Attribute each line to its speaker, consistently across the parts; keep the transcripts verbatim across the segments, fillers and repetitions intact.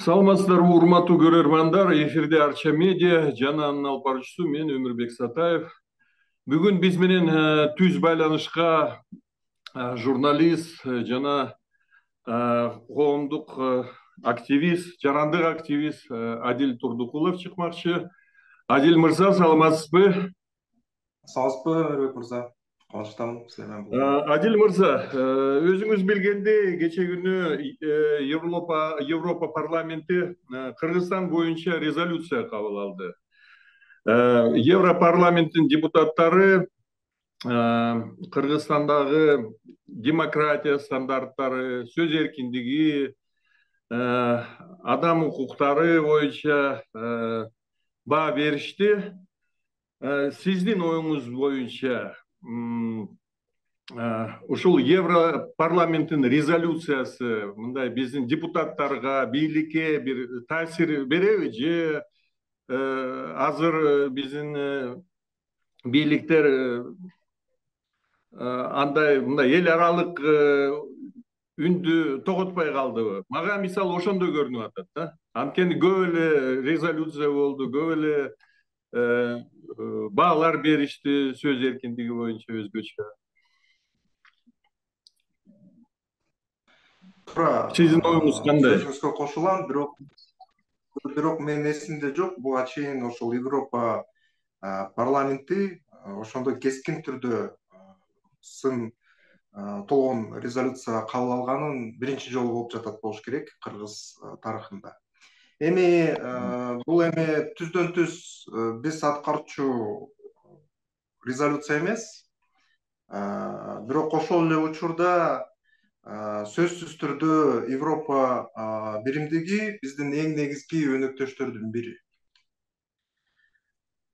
Speaker 1: Саламатсыздарбы, урматтуу көрөрмандар. Эфирде Арча медиа, жана анын алып баруучусу мен Өмүрбек Сатаев. Бүгүн биз менен түз байланышка журналист жана коомдук активист, жарандык активист Адил Турдукулов чыкмакчы. Адил мырза, саламатсызбы?
Speaker 2: Саламатсызбы, Өмүрбек мырза? Кубанычтамын сиз менен болгонума.
Speaker 1: Адил мырза, өзүңүз билгендей, кече күнү Европа Европа парламенти Кыргызстан боюнча резолюция кабыл алды. Европарламенттин депутаттары Кыргызстандагы демократия стандарттары, сөз эркиндиги, адам укуктары боюнча баа беришти. Сиздин оюңуз боюнча ушул Европарламенттин резолюциясы мындай биздин депутаттарга, бийликке бир таасир береби, же азыр биздин бийликтер андай мындай эл аралык үндү тоготпой калдыбы? Мага мисалы ошондой көрүнүп атат да. Анткени көп эле резолюция болду, көп эле баалар беришти сөз эркиндиги боюнча өзгөчө.
Speaker 2: Туура.
Speaker 1: Сиздин оюңуз кандай?
Speaker 2: Сөзүңүзгө кошулам, бирок бирок менин эсимде жок, буга чейин ошол Европа парламенти ошондой кескин түрдө сын толгон резолюция кабыл алганын биринчи жолу болуп жатат болуш керек Кыргыз тарыхында. Эми бул эми түздөн түз биз аткаруучу резолюция эмес, бирок ошол эле учурда сөзсүз түрдө Европа биримдиги биздин эң негизги өнөктөштөрдүн бири.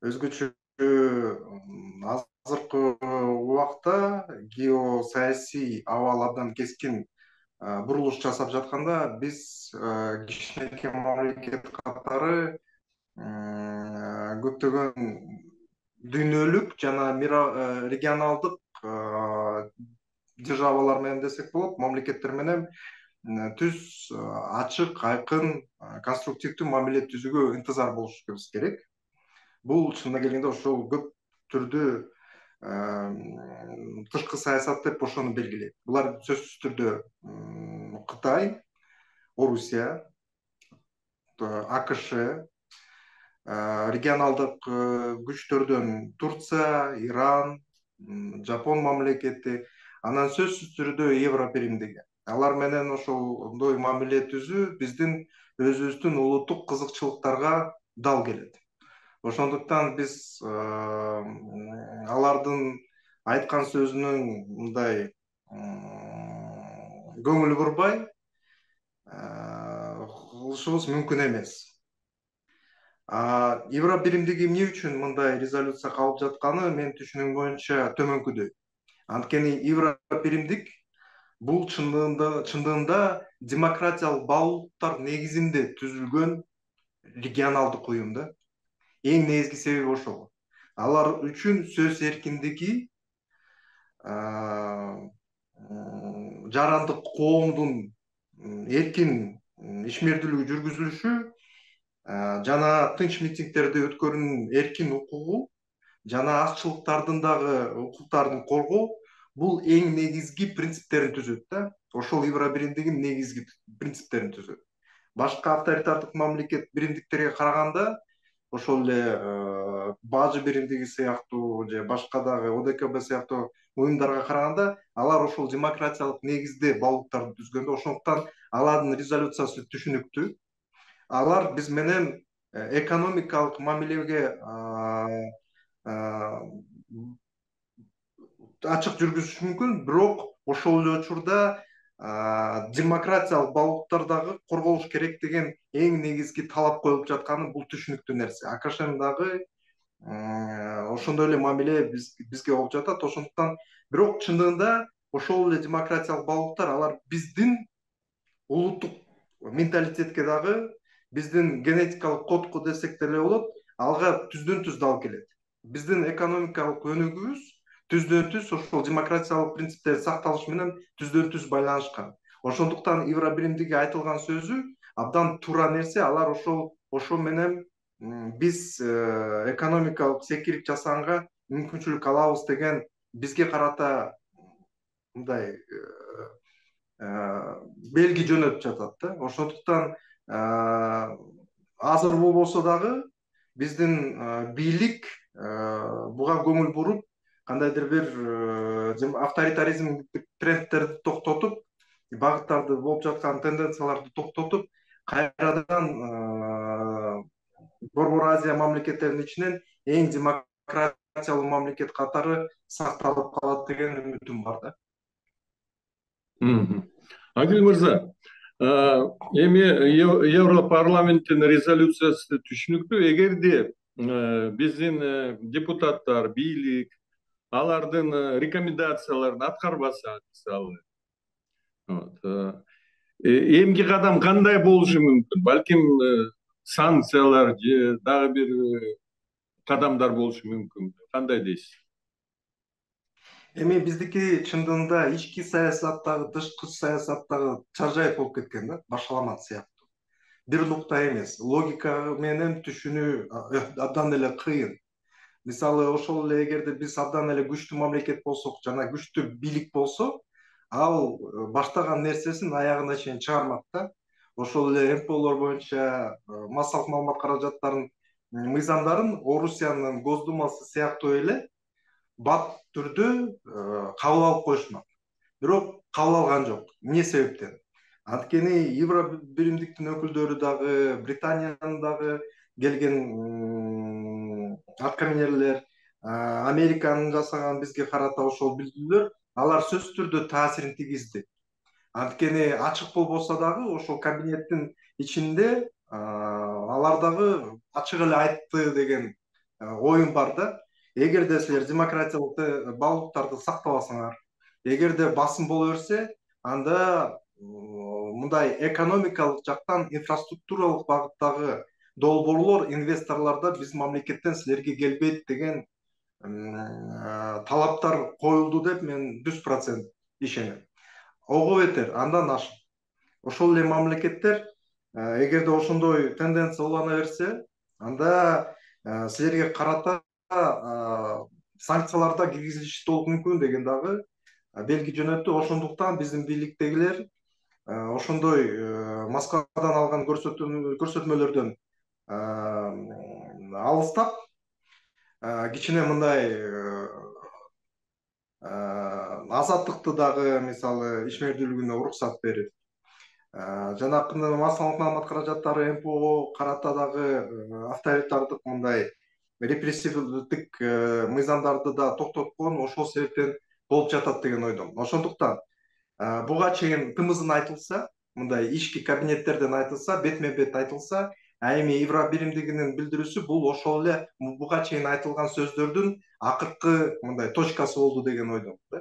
Speaker 2: Өзгөчө азыркы убакта геосаясий абал абдан кескин бурулуш жасап жатканда биз кичинекей мамлекет катары көптөгөн дүйнөлүк жана регионалдык державалар менен десек болот, мамлекеттер менен түз, ачык, айкын, конструктивдүү мамиле түзүүгө интызар болушубуз керек. Бул чынына келгенде ошол көп түрдүү тышкы саясат деп ошону белгилейт. Булар сөзсүз түрдө Кытай, Орусия, АКШ, регионалдык күчтөрдөн Турция, Иран, Жапон мамлекети, анан сөзсүз түрдө Евро биримдиги. Алар менен ошондой мамиле түзүү биздин өзүбүздүн улуттук кызыкчылыктарга дал келет. Ошондуктан биз алардын айткан сөзүнүн мындай көңүл бурбай кылышыбыз мүмкүн эмес. Евро биримдиги эмне үчүн мындай резолюция кабыл жатканы менин түшүнүгүм боюнча төмөнкүдөй. Анткени Евро биримдик бул чындыгында демократиялык баалуулуктар негизинде түзүлгөн регионалдык уюм да. Эң негизги себеби ошол. Алар үчүн сөз эркиндиги, жарандык коомдун эркин ишмердүүлүгү жүргүзүлүшү жана тынч митингдерди өткөрүүнүн эркин укугу жана азчылыктардын дагы укуктарын коргоо бул эң негизги принциптерин түзөт да. Ошол Евро биримдигинин негизги принциптерин түзөт. Башка авторитардык мамлекет биримдиктерге караганда ошол эле Бажы биримдиги сыяктуу же башка дагы О Д К Б сыяктуу уюмдарга караганда алар ошол демократиялык негизде баалуулуктарды түзгөндө, ошондуктан алардын резолюциясы түшүнүктүү. Алар биз менен экономикалык мамилеге ачык жүргүзүшү мүмкүн, бирок ошол эле учурда демократиялык баалуулуктар дагы корголуш керек деген эң негизги талап коюлуп жатканы бул түшүнүктүү нерсе. АКШнын дагы ошондой эле мамиле бизге болуп жатат. Ошондуктан бирок чындыгында ошол эле демократиялык баалуулуктар алар биздин улуттук менталитетке дагы, биздин генетикалык кодко десек деле болот, алга түздөн түз дал келет. Биздин экономикалык өнүгүүбүз түздөн түз ошол демократиялык принциптерди сакталышы менен түздөн түз байланышкан. Ошондуктан Евро биримдиги айтылган сөзү абдан туура нерсе. Алар ошол ошо менен биз экономикалык секирик жасаганга мүмкүнчүлүк алабыз деген бизге карата мындай белги жөнөтүп жатат да. Ошондуктан азыр болбосо дагы биздин бийлик буга көңүл буруп, кандайдыр бир авторитаризмдик трендтерди токтотуп, багыттарды болуп жаткан тенденцияларды токтотуп, кайрадан Борбор Азия мамлекеттеринин ичинен эң демократиялуу мамлекет катары сакталып калат деген үмүтүм бар да.
Speaker 1: Адил мырза, эми Европарламенттин резолюциясы түшүнүктүү. Эгерде биздин депутаттар, бийлик алардын рекомендацияларын аткарбаса, мисалы, эмки кадам кандай болушу мүмкүн? Балким санкциялар же дагы бир кадамдар болушу мүмкүн. Кандай дейсиз?
Speaker 2: Эми биздики чындыгында ички саясаттагы, тышкы саясаттагы чаржайып болуп кеткен да, башаламат сыяктуу. Бир нукта эмес, логика менен түшүнүү абдан эле кыйын. Мисалы, ошол эле эгерде биз абдан эле күчтүү мамлекет болсок жана күчтүү бийлик болсо, ал баштаган нерсесин аягына чейин чыгармак да. Ошол эле эм пэ олор боюнча массалык маалымат каражаттарынын мыйзамдарын Орусиянын Госдумасы сыяктуу эле бат түрдө кабыл алып коюшмак. Бирок кабыл алган жок. Эмне себептен? Анткени Евро биримдиктин өкүлдөрү дагы, Британиянын дагы келген аткаминерлер, Американын жасаган бизге карата ошол билдирүүлөр, алар сөзсүз түрдө таасирин тийгизди. Анткени ачык болбосо дагы ошол кабинеттин ичинде алар дагы ачык эле айтты деген оюм бар да. Эгерде силер демократиялык баалуулуктарды сактабасаңар, эгерде басым боло берсе, анда мындай экономикалык жактан инфраструктуралык багыттагы долбоорлор, инвесторлордо биз мамлекеттен силерге келбейт деген талаптар коюлду деп мен жүз процент ишенем. Ого бетер, андан ашык. Ошол эле мамлекеттер эгерде ошондой тенденция улана берсе, анда силерге карата санкцияларда киргизилиши болушу мүмкүн деген дагы белги жөнөттү. Ошондуктан биздин бийликтегилер ошондой Москвадан алган көрсөтмөлөрдөн алыстап, кичине мындай азаттыкты дагы, мисалы, ишмердүүлүгүнө уруксат берип, жанакы массалык маалымат каражаттары эм пэ ого карата дагы авторитардык мындай репрессивдик мыйзамдарды да токтоткон ошол себептен болуп жатат деген ойдомун. Ошондуктан буга чейин тымызын айтылса, мындай ички кабинеттерден айтылса, бетме бет айтылса, а эми Евро биримдигинин билдирүүсү бул ошол эле буга чейин айтылган сөздөрдүн акыркы мындай точкасы болду деген ойдомун да.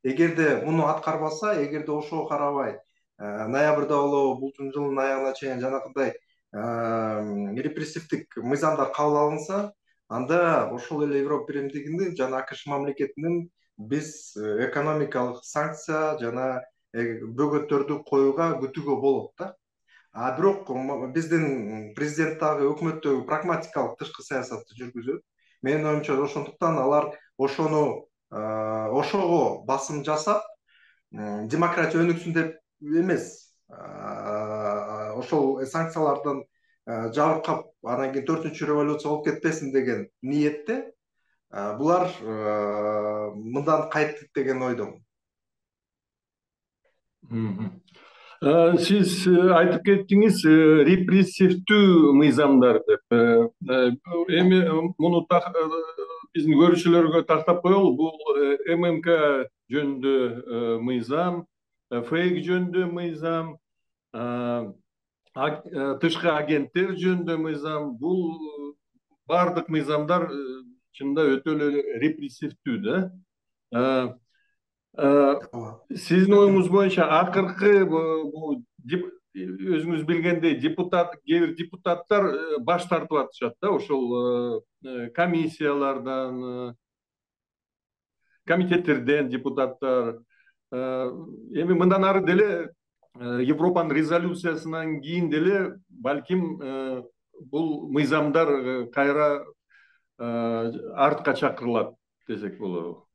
Speaker 2: Эгерде муну аткарбаса, эгерде ошого карабай ноябрда болобу, бул жылдын аягына чейин жанакындай репрессивдик мыйзамдар кабыл алынса, анда ошол эле Европа биримдигинин жана АКШ мамлекетинин биз экономикалык санкция жана бөгөттөрдү коюуга күтүүгө болот да. А бирок биздин президент дагы өкмөттөгү прагматикалык тышкы саясатты жүргүзөт. Менин оюмча ошондуктан алар ошону ошого басым жасап, демократия өнүксүн деп эмес, ошол санкциялардан жабыркап, анан кийин төртүнчү революция болуп кетпесин деген ниетте булар мындан кайттык деген ойдомун.
Speaker 1: Сиз айтып кеттиңиз репрессивдүү мыйзамдар деп. Эми муну биздин көрүүчүлөргө тактап коелу. Бул эм эм ка жөнүндө мыйзам, фейк жөнүндө мыйзам, тышкы агенттер жөнүндө мыйзам. Бул бардык мыйзамдар чынында өтө эле репрессивдүү да. Сиздин оюңуз боюнча акыркы өзүңүз билгендей депутат, кээ бир депутаттар баш тартып атышат да, ошол комиссиялардан, комитеттерден депутаттар. Эми мындан ары деле Европанын резолюциясынан кийин деле балким бул мыйзамдар кайра артка чакырылат десек болобу.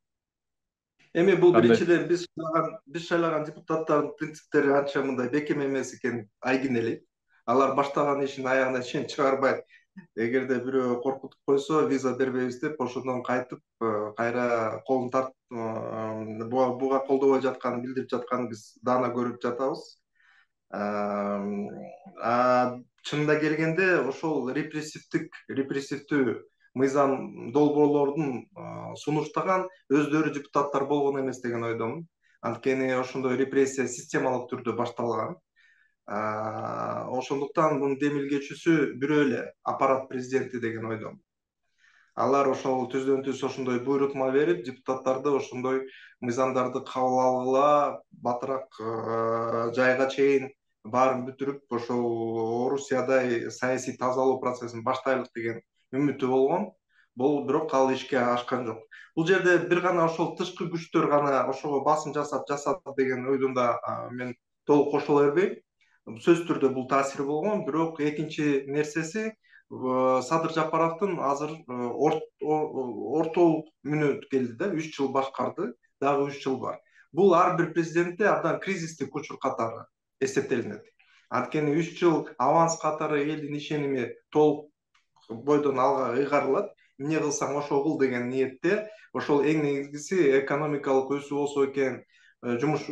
Speaker 2: Эми бул
Speaker 1: Кандай?
Speaker 2: биринчиден биз шайлаган биз шайлаган депутаттардын принциптери анча мындай бекем эмес экени айгинелейт. Алар баштаган ишин аягына чейин чыгарбай, эгерде бирөө коркутуп койсо виза бербейбиз деп ошондон кайтып кайра колун тартып буга колдобой жатканын билдирип жатканын биз даана көрүп жатабыз. Чынында келгенде ошол репрессивдик репрессивдүү мыйзам долбоорлордун сунуштаган өздөрү депутаттар болгон эмес деген ойдомун. Анткени ошондой репрессия системалык түрдө башталган. Ошондуктан мунун демилгечүүсү бирөө эле аппарат президенти деген ойдомун. Алар ошол түздөн түз ошондой буйрутма берип, депутаттарды ошондой мыйзамдарды кабыл алгыла, батыраак жайга чейин баарын бүтүрүп, ошол Орусиядай саясий тазалоо процессин баштайлык деген үмүтү болгон. Бул бирок ал ишке ашкан жок. Бул жерде бир гана ошол тышкы күчтөр гана ошого басым жасап жасады деген ойдумда мен толук кошула бербейм. Сөзсүз түрдө бул таасири болгон, бирок экинчи нерсеси Садыр Жапаровдун азыр ортолук мүнөт келди да, үч жыл башкарды, дагы үч жыл бар. Бул ар бир президентте абдан кризистик учур катары эсептелинет. Анткени үч жыл аванс катары элдин ишеними толук бойдон алга ыйгарылат. Эмне кылсаң ошо кыл деген ниетте, ошол эң негизгиси экономикалык өсүү болсо экен, жумуш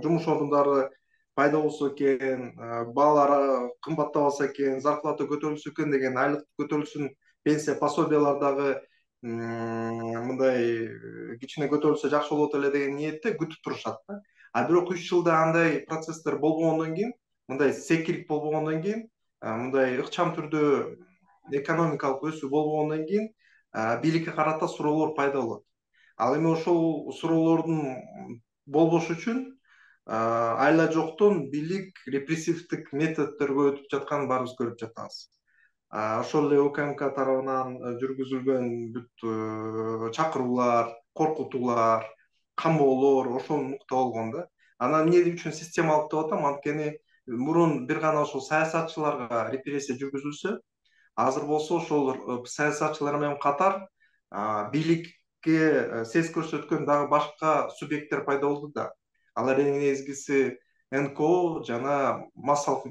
Speaker 2: жумуш орундары пайда болсо экен, баалар кымбаттабаса экен, зарплата көтөрүлсө экен деген, айлык көтөрүлсүн, пенсия пособиялар дагы мындай кичине көтөрүлсө жакшы болот эле деген ниетте күтүп турушат да. А бирок үч жылда андай процесстер болбогондон кийин, мындай секирик болбогондон кийин, мындай ыкчам түрдө экономикалык өсүү болбогондон кийин бийликке карата суроолор пайда болот. Ал эми ошол суроолордун болбошу үчүн айла жоктон бийлик репрессивдик методдорго өтүп жатканын баарыбыз көрүп жатабыз. Ошол эле УКМК тарабынан жүргүзүлгөн бүт чакыруулар, коркутуулар, камоолор ошол нукта болгон да. Анан эмне үчүн системалык деп атам? Анткени мурун бир гана ошол саясатчыларга репрессия жүргүзүлсө, азыр болсо ошол саясатчылар менен катар бийликке сес көрсөткөн дагы башка субъекттер пайда болду да. Алар эң негизгиси эн ка о жана массалык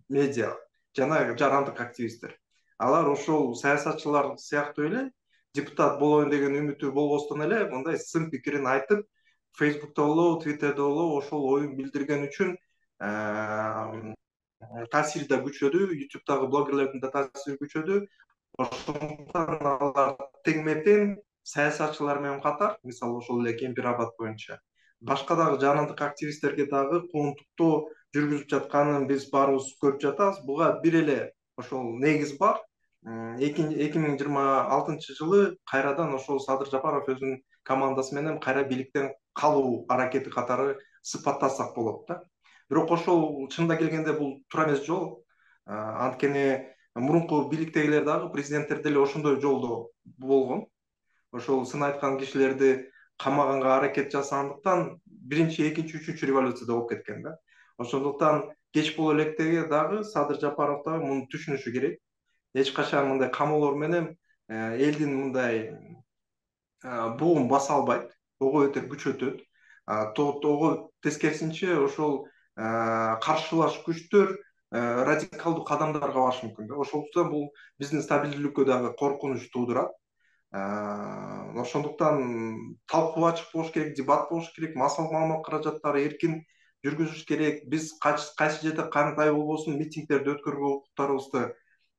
Speaker 2: медиа жана жарандык активисттер. Алар ошол саясатчылар сыяктуу эле депутат болоюн деген үмүтү болбостон эле мындай сын пикирин айтып, Фейсбукта болобу, Твиттерде болобу ошол оюн билдирген үчүн таасири да күчөдү, ютубтагы блогерлердин да таасири күчөдү. Ошондуктан алар тең-метең саясатчылар менен катар, мисалы ошол эле Кемпир Абад боюнча башка дагы жарандык активисттерге дагы коомдуктоо жүргүзүп жатканын биз баарыбыз көрүп жатабыз. Буга бир эле ошол негиз бар. эки миң жыйырма алтынчы жылы кайрадан ошол Садыр Жапаров өзүнүн командасы менен кайра бийликтен калуу аракети катары сыпаттасак болот да. Бирок ошол чынында келгенде бул туура эмес жол. Анткени мурунку бийликтегилер дагы, президенттер деле ошондой жолдо болгон. Ошол сын айткан кишилерди камаганга аракет жасагандыктан биринчи, экинчи, үчүнчү революцияда болуп кеткен да. Ошондуктан кеч боло электеги дагы Садыр Жапаров дагы муну түшүнүшү керек. Эч качан мындай камоолор менен элдин мындай бугун баса албайт, ого бетер күчөтөт. Ого тескерисинче ошол каршылаш күчтөр радикалдуу кадамдарга барышы мүмкүн да. Ошондуктан бул биздин стабилдүүлүккө дагы коркунуч туудурат. Ошондуктан талкуу ачык болуш керек, дебат болуш керек, массалык маалымат каражаттары эркин жүргүзүш керек. Биз кайсы жерде кандай болбосун митингдерди өткөргө укуктарыбызды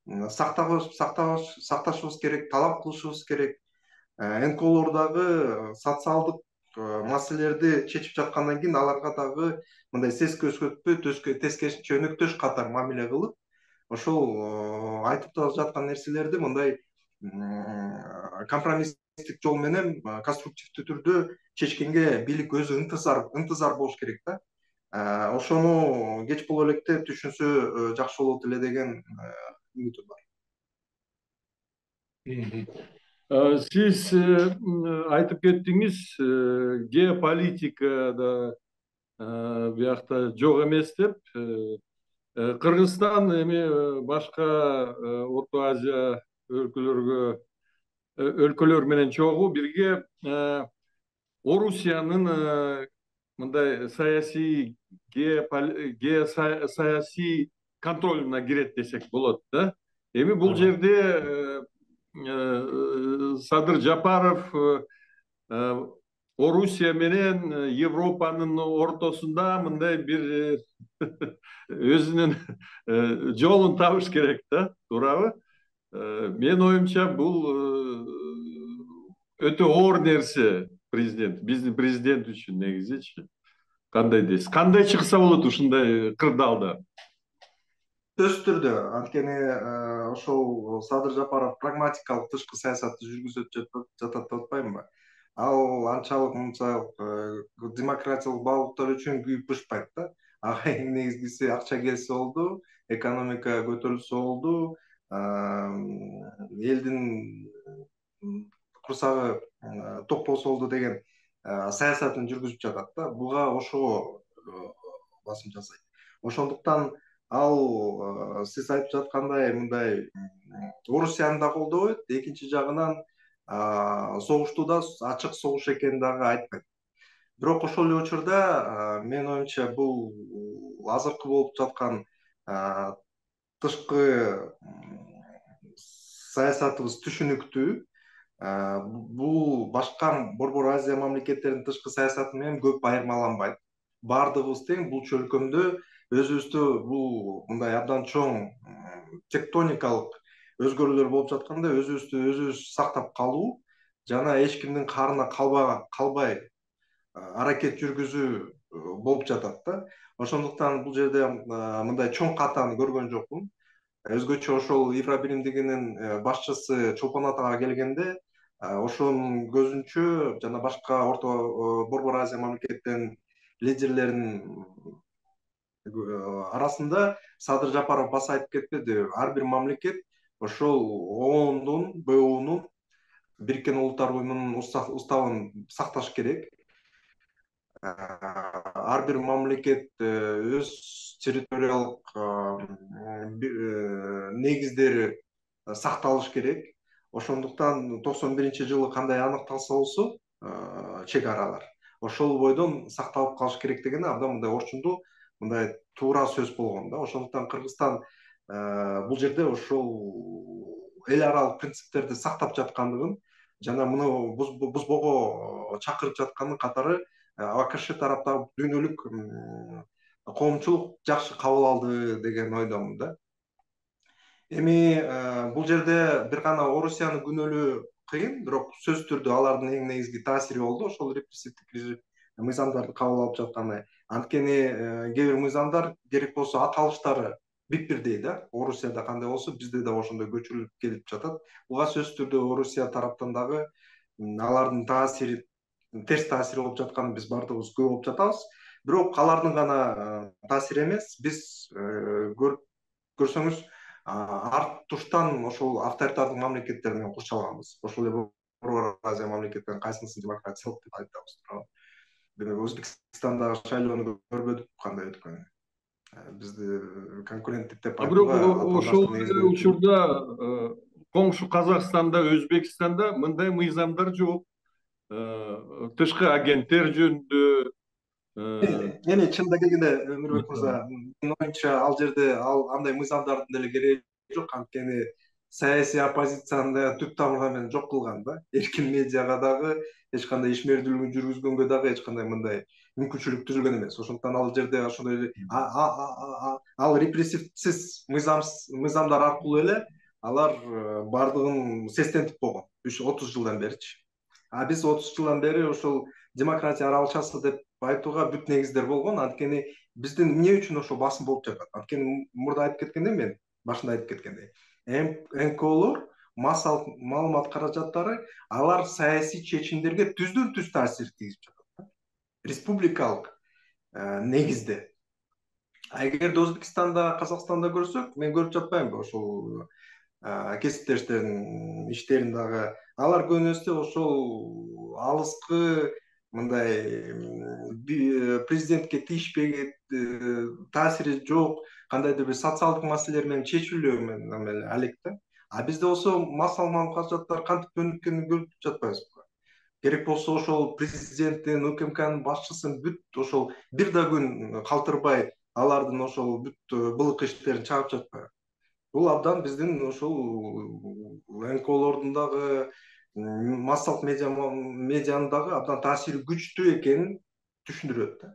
Speaker 2: сакташыбыз керек, талап кылышыбыз керек. эн ка олор дагы социалдык маселелерди чечип жаткандан кийин аларга дагы мындай сес көрсөтпөй, тескерисинче өнөктөш катары мамиле кылып, ошол айтып жаткан нерселерди мындай компромисстик жол менен конструктивдүү түрдө чечкенге бийлик өзү ынтызар ынтызар болуш керек да. Ошону кеч боло электе түшүнсө жакшы болот эле деген үмүтүм бар.
Speaker 1: Сиз айтып кеттиңиз, геополитикада биякта жок эмес деп. Кыргызстан эми башка Орто Азия өлкөлөргө өлкөлөр менен чогуу бирге Орусиянын мындай саясий геосаясий контролуна кирет десек болот да. Эми бул жерде Садыр Жапаров Орусия менен Европанын ортосунда мындай бир өзүнүн жолун табыш керек да, туурабы? Менин оюмча бул өтө оор нерсе президент, биздин президент үчүн негизичи. Кандай дейсиз? Кандай чыкса болот ушундай кырдаалда?
Speaker 2: Сөзсүз түрдө, анткени ошол Садыр Жапаров прагматикалык тышкы саясатты жүргүзүп жатат деп атпаймынбы? Ал анчалык мынчалык демократиялык баалуулуктар үчүн күйүп бышпайт да. Ага эң негизгиси акча келсе болду, экономика көтөрүлсө болду, элдин курсагы ток болсо болду деген саясатын жүргүзүп жатат да. Буга ошого басым жасайт. Ошондуктан ал сиз айтып жаткандай мындай Орусияны да колдобойт, экинчи жагынан согушту да ачык согуш экенин дагы айтпайт. Бирок ошол эле учурда менин оюмча бул азыркы болуп жаткан тышкы саясатыбыз түшүнүктүү. Бул башка Борбор Азия мамлекеттеринин тышкы саясаты менен көп айырмаланбайт. Бардыгыбыз тең бул чөлкөмдө өзүбүздү бул мындай абдан чоң тектоникалык өзгөрүүлөр болуп жатканда өзүбүздү өзүбүз сактап калуу жана эч кимдин карына калбай аракет жүргүзүү болуп жатат да. Ошондуктан бул жерде мындай чоң катаны көргөн жокмун. Өзгөчө ошол Евробиримдигинин башчысы Чолпон Атага келгенде ошонун көзүнчө жана башка орто Борбор Азия мамлекеттеринин лидерлеринин арасында Садыр Жапаров баса айтып кетпеди. Ар бир мамлекет ошол оондун, Б Унун, Бириккен Улуттар Уюмунун уставын сакташ керек. Ар бир мамлекет өз территориялык негиздери сакталыш керек. Ошондуктан токсон биринчи жылы кандай аныкталса болсо чек аралар ошол бойдон сакталып калыш керек деген абдан мындай орчундуу, мындай туура сөз болгон да. Ошондуктан Кыргызстан бул жерде ошол эл аралык принциптерди сактап жаткандыгын жана муну бузбого чакырып жаткандын катары АКШ тараптагы дүйнөлүк коомчулук жакшы кабыл алды деген ойдомун да. Эми бул жерде бир гана Орусияны күнөөлөө кыйын, бирок сөзсүз түрдө алардын эң негизги таасири болду ошол репрессивдик мыйзамдарды кабыл алып жатканы. Анткени кээ бир мыйзамдар керек болсо аталыштары бирдей да. Орусияда кандай болсо бизде да ошондой көчүрүлүп келип жатат. Буга сөзсүз түрдө Орусия тараптан дагы алардын таасири, терс таасири болуп жатканын биз бардыгыбыз күбө болуп жатабыз. Бирок алардын гана таасири эмес, биз көрсөңүз арт туштан ошол авторитардык мамлекеттер менен курчалганбыз. Ошол эле Борбор Азия мамлекеттеринин кайсынысын демократиялык деп айтабыз, туурабы? Демек Өзбекстандагы шайлоону көрбөдүк кандай өткөнүн. Бизди конкуренттик деп
Speaker 1: айтууга. Бирок ошол учурда коңшу Казакстанда, Өзбекстанда мындай мыйзамдар жок. Тышкы агенттер жөнүндө
Speaker 2: эми чынында келгенде Өмүрбек мырза, менин оюмча ал жерде ал андай мыйзамдардын деле кереги жок, анткени саясий оппозицияны түп тамыры менен жок кылган да. Эркин медиага дагы, эч кандай ишмердүүлүгүн жүргүзгөнгө дагы эч кандай мындай мүмкүнчүлүк түзүлгөн эмес. Ошондуктан ал жерде ошондой ал репрессивсиз мыйзамдар аркылуу эле алар бардыгын сестентип койгон отуз жылдан беричи. А биз отуз жылдан бери ошол демократия аралчасы деп айтууга бүт негиздер болгон. Анткени биздин эмне үчүн ошол басым болуп жатат? Анткени мурда айтып кеткендей, мен башында айтып кеткендей, эн ка олор, маалымат каражаттары, алар саясий чечимдерге түздөн түз таасир тийгизип жатат. Республикалык негизде. А эгерде Өзбекстанда, Казакстанда көрсөк, мен көрүп жатпаймынбы ошол кесиптештердин иштерин дагы. Алар көбүнесе ошол алыскы мындай президентке тийишпеген, таасири жок кандайдыр бир социалдык маселелер менен чечилүү менен алек да. А бизде болсо массалуу каражаттар кантип өнүккөнүн көрүп жатпайбызбы? Керек болсо ошол президенттин, УКМКнын башчысын бүт ошол бир да күн калтырбай алардын ошол бүт былык иштерин чыгарып жатпайбы? Бул абдан биздин ошол эн ка олордун дагы массалык медианын дагы абдан таасири күчтүү экенин түшүндүрөт да.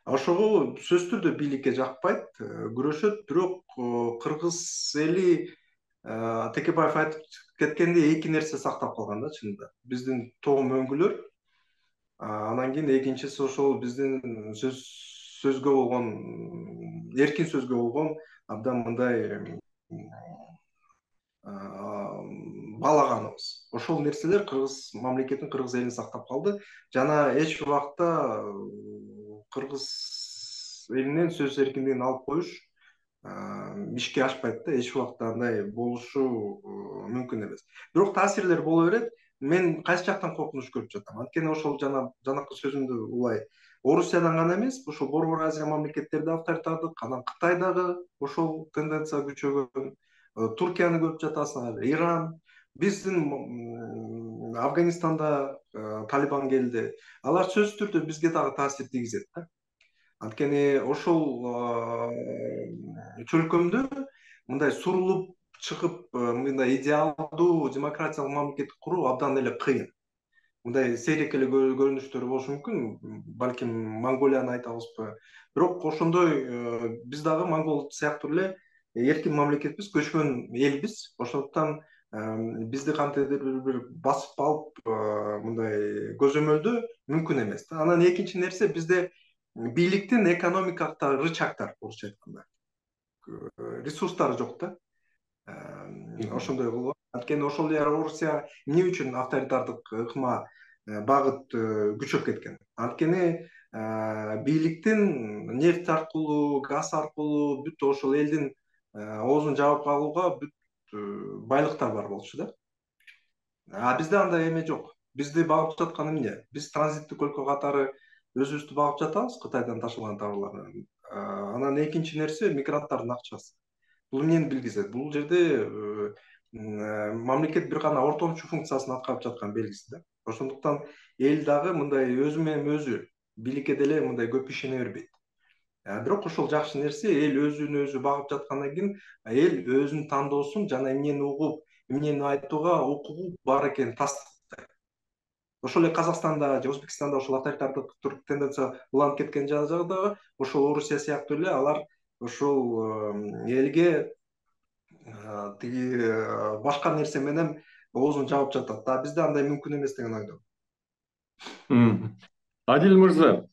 Speaker 2: Ошого сөзсүз түрдө бийликке жакпайт, күрөшөт, бирок кыргыз эли Текебаев айтып кеткендей эки нерсе сактап калган да чынында. Биздин тоом өңгүлөр, анан кийин экинчиси ошол биздин сөз сөзгө болгон, эркин сөзгө болгон абдан мындай баалаганыбыз. Ошол нерселер кыргыз мамлекетин, кыргыз элин сактап калды жана эч убакта кыргыз элинен сөз эркиндигин алып коюш ишке ашпайт да, эч убакта андай болушу мүмкүн эмес. Бирок таасирлер боло берет. Мен кайсы жактан коркунуч көрүп жатам? Анткени ошол жана жанакы сөзүмдү улай Орусиядан гана эмес, ошол Борбор Азия мамлекеттерде авторитардык, анан Кытайдагы ошол тенденция күчөгөн, Туркияны көрүп жатасыңар, Иран, биздин Афганистанда Талибан келди. Алар сөзсүз түрдө бизге дагы таасир тийгизет да. Анткени ошол чөлкөмдө мындай сурулуп чыгып, мындай идеалдуу демократиялык мамлекет куруу абдан эле кыйын. Мындай сейрек эле көрүнүштөр болушу мүмкүн, балким Монголияны айтабызбы. Бирок ошондой биз дагы монгол сыяктуу эле эркин мамлекетпиз, көчкөн элбиз. Ошондуктан бизди кантиптир бир басып алып мындай көзөмөлдөө мүмкүн эмес. Анан экинчи нерсе, бизде бийликтин экономикалык рычагдар, орусча айтканда, ресурстары жок да. Ошондой болгон. Анткени ошол эле Орусия эмне үчүн авторитардык ыкма багыт күчөп кеткен? Анткени бийликтин нефть аркылуу, газ аркылуу бүт ошол элдин оозун жаап калууга бүт байлыктар бар болчу да. А бизде андай эме жок. Бизди багып жаткан эмне? Биз транзиттик өлкө катары өзүбүздү багып жатабыз Кытайдан ташылган товарлар менен. Анан экинчи нерсе мигранттардын акчасы. Бул эмнени билгизет? Бул жерде мамлекет бир гана ортомчу функциясын аткарып жаткан белгиси да. Ошондуктан эл дагы мындай өзү менен өзү бийликке деле мындай көп ишене бербейт. Бирок ошол жакшы нерсе, эл өзүн өзү багып жаткандан кийин эл өзүнүн тандоосун жана эмнени угуп, эмнени айтууга укугу бар экенин тастыктайт. Ошол эле Казакстанда же Өзбекстанда ошол авторитардык тенденция уланып кеткен жагда ошол Орусия сыяктуу эле алар ошол элге тиги башка нерсе менен оозун жаап жатат да. Бизде андай мүмкүн эмес деген ойдомун.
Speaker 1: Адил мырза,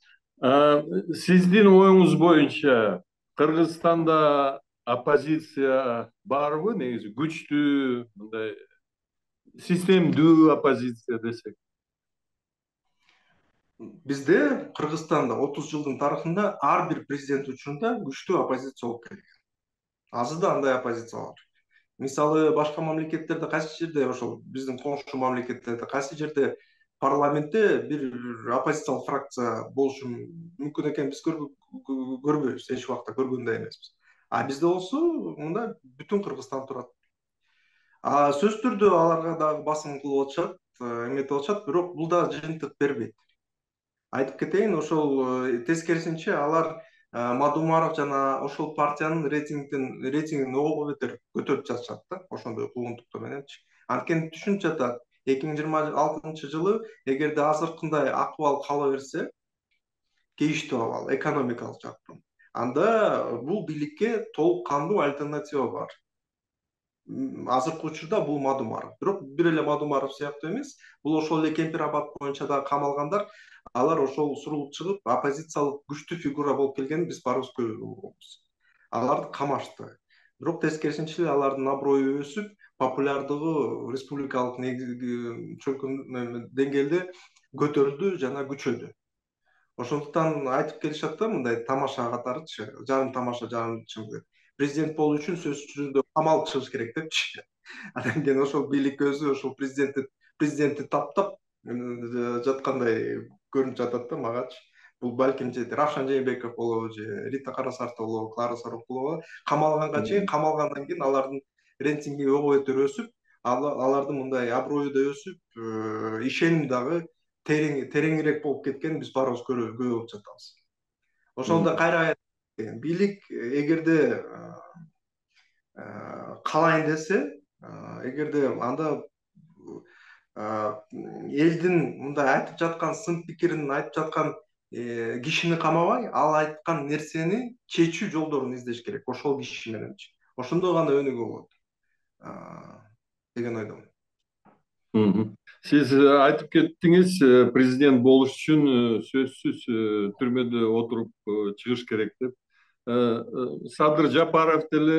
Speaker 1: сиздин оюңуз боюнча Кыргызстанда оппозиция барбы, негизи күчтүү, мындай системдүү оппозиция десек?
Speaker 2: Бизде Кыргызстанда отуз жылдын тарыхында ар бир президент учурунда күчтүү оппозиция болуп келген. Азыр да андай оппозиция бар. Мисалы, башка мамлекеттерде кайсы жерде, ошол биздин коңшу мамлекеттерде кайсы жерде парламентте бир оппозициялык фракция болушу мүмкүн экенин биз көрбөйбүз, эч убакта көргөн да эмеспиз. А бизде болсо мында бүтүн Кыргызстан турат. А сөзсүз түрдө аларга дагы басым кылып атышат, эметип атышат, бирок бул да жыйынтык бербейт. Айтып кетейин, ошол тескерисинче алар Мадумаров жана ошол партиянын рейтингин рейтингин ого бетер көтөрүп жатышат да, ошондой куугунтуктар мененчи. Анткени түшүнүп жатат, эки миң жыйырма алтынчы жылы эгерде азыркындай акыбал кала берсе, кейиштүү абал, экономикалык жактан, анда бул бийликке толук кандуу альтернатива бар. Азыркы учурда бул Мадумаров. Бирок бир эле Мадумаров сыяктуу эмес, бул ошол эле Кемпир Абад боюнча да камалгандар, алар ошол сурулуп чыгып, оппозициялык күчтүү фигура болуп келгенин биз баарыбыз көрүбүз. Аларды камашты. Бирок тескерисинче алардын аброю өсүп, популярдыгы республикалык чөлкөм деңгээлде көтөрүлдү жана күчөдү. Ошондуктан айтып келишат да, мындай тамаша катарычы, жарым тамаша, жарым чын деп. Президент болуу үчүн сөзсүз түрдө камалып чыгыш керек депчи. Анан кийин ошол бийлик өзү ошол президентти президентти таптап, жаткандай көрүнүп жатат да магачы. Бул балким же Равшан Жээнбеков болобу, же Рита Карасарт болобу, Клара Сорокулова камалганга чейин, камалгандан кийин алардын рейтинги ого бетер өсүп, алардын мындай аброю да өсүп, ишеним дагы терең тереңирээк болуп кеткенин биз баарыбыз күбө болуп жатабыз. Ошондо кайра бийлик эгерде калайын десе, эгерде анда элдин мындай айтып жаткан сын пикирин айтып жаткан кишини камабай, ал айткан нерсени чечүү жолдорун издеш керек, ошол киши мененчи. Ошондо гана өнүгүү болот деген ойдомун.
Speaker 1: Сиз айтып кеттиңиз, президент болуш үчүн сөзсүз түрмөдө отуруп чыгыш керек деп. Садыр Жапаров деле,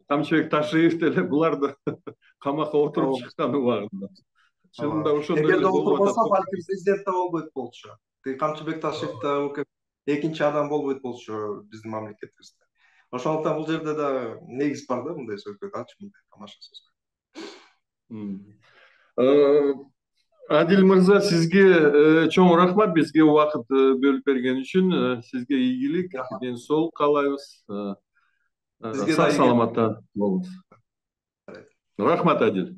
Speaker 1: Камчыбек Ташиев деле булар да камакка отуруп чыккан убагында. Чынында ошондой эле
Speaker 2: эгерде
Speaker 1: болуп
Speaker 2: отурбаса,
Speaker 1: атат.
Speaker 2: балким президент да болбойт болчу. Камчыбек Ташиев да экинчи адам болбойт болчу биздин мамлекетибизде. Ошондуктан бул жерде да негиз бар да мындай сөзгө дачы, мындай тамаша
Speaker 1: сөзгө. Адил мырза, сизге чоң рахмат бизге убакыт бөлүп берген үчүн. Сизге ийгилик, ден соолук каалайбыз. Сак саламатта болуңуз. Рахмат, Адил.